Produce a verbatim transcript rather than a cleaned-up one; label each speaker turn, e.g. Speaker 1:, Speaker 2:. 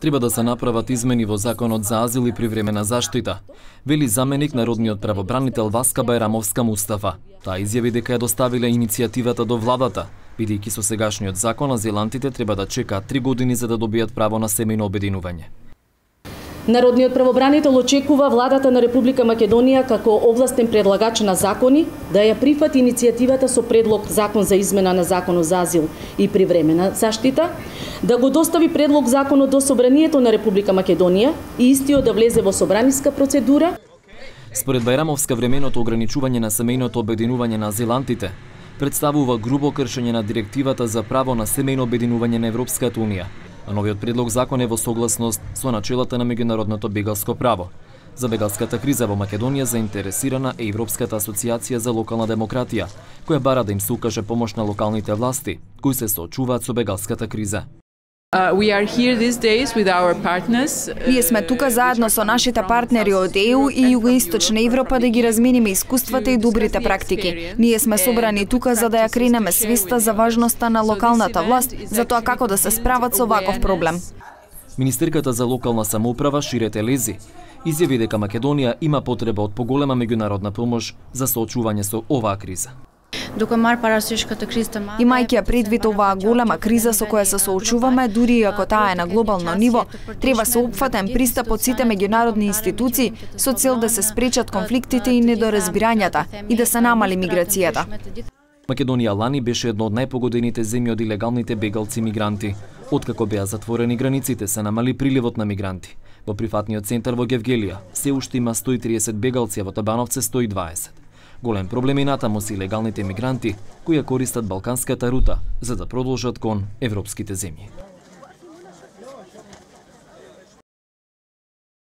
Speaker 1: Треба да се направат измени во Законот за азил и привремена заштита, вели заменик народниот правобранител Васка Бајрамовска Мустафа. Таа изјави дека ја доставиле иницијативата до владата, бидејќи со сегашниот закон азилантите треба да чекаат три години за да добијат право на семејно обединување.
Speaker 2: Народниот правобранител очекува владата на Република Македонија како овластен предлагач на закони да ја прифати иницијативата со предлог закон за измена на Законот за азил и привремена заштита, да го достави предлог законот до Собранието на Република Македонија и истиот да влезе во собраниска процедура.
Speaker 1: Според Бајрамовска, временото ограничување на семејното обединување на азилантите представува грубо кршење на директивата за право на семејно обединување на Европската унија. А новиот предлог закон е во согласност со начелата на меѓународното бегалско право. За бегалската криза во Македонија заинтересирана е Европската асоциација за локална демократија, која бара да им се укаже помош на локалните власти, кои се соочуваат со бегалската криза.
Speaker 3: Uh, we are here these days with our partners.
Speaker 4: Ние сме тука заедно со нашите партнери од Е Ју и Југоисточна Европа да ги размениме искуствата и добрите практики. Ние сме собрани тука за да ја кренеме свеста за важноста на локалната власт, за тоа како да се справат со ваков проблем.
Speaker 1: Министерката за локална самоуправа Шире Телези изјави дека Македонија има потреба од поголема меѓународна помош за соочување со оваа криза.
Speaker 4: Имајќи ја предвид оваа голема криза со која се соочуваме, дури и ако таа е на глобално ниво, треба соопфатен пристап од сите меѓународни институции со цел да се спречат конфликтите и недоразбирањата и да се намали миграцијата.
Speaker 1: Македонија лани беше една од најпогодените земји од илегалните бегалци мигранти. Откако беа затворени границите, се намали приливот на мигранти. Во прифатниот центар во Гевгелија се уште има сто и триесет бегалци, а во Табановце сто и дваесет. Голем проблем е натаму се илегалните мигранти кои ја користат балканската рута за да продолжат кон европските земји.